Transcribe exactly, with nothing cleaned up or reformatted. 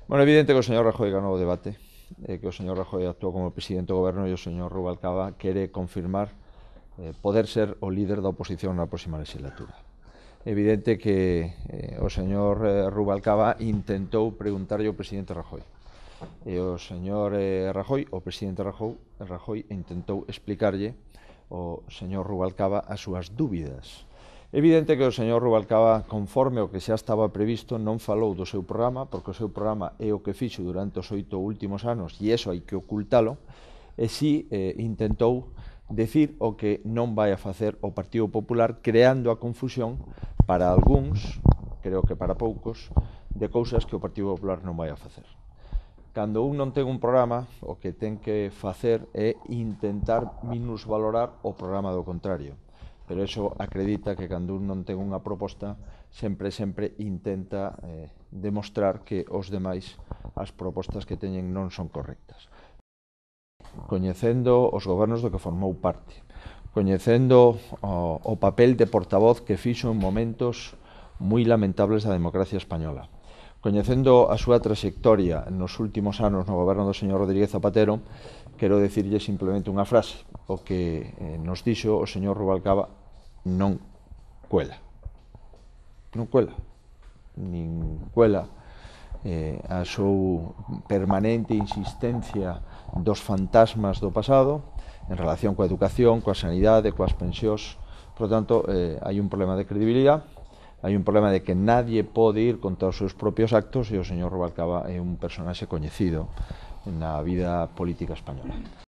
Bueno, é evidente que o señor Rajoy ganou o debate, e que o señor Rajoy actuou como presidente do goberno e o señor Rubalcaba quere confirmar eh, poder ser o líder da oposición na próxima legislatura. É evidente que eh, o señor eh, Rubalcaba intentou preguntarlle ao presidente Rajoy. E o señor eh, Rajoy, o presidente Rajoy, Rajoy intentou explicarlle ao señor Rubalcaba as súas dúbidas. É evidente que o señor Rubalcaba, conforme o que xa estaba previsto, non falou do seu programa, porque o seu programa é o que fixo durante os oito últimos anos e iso hai que ocultalo, e si eh, intentou decir o que non vai a facer o Partido Popular, creando a confusión para algúns, creo que para poucos, de cousas que o Partido Popular non vai a facer. Cando un non ten un programa, o que ten que facer é intentar minusvalorar o programa do contrario. Pero eso acredita que cando un non ten unha proposta, sempre, sempre intenta eh, demostrar que os demais as propostas que teñen non son correctas. Coñecendo os gobernos do que formou parte, coñecendo o, o papel de portavoz que fixo en momentos moi lamentables da democracia española, coñecendo a súa trayectoria nos últimos anos no goberno do señor Rodríguez Zapatero, quero dicirlle simplemente unha frase: o que eh, nos dixo o señor Rubalcaba non cuela. Non cuela. Nin cuela eh, a súa permanente insistencia dos fantasmas do pasado en relación coa educación, coa sanidade, coas pensións. Por lo tanto, eh, hai un problema de credibilidade, hai un problema de que nadie pode ir contra os seus propios actos, e o señor Rubalcaba é un personaxe coñecido na vida política española.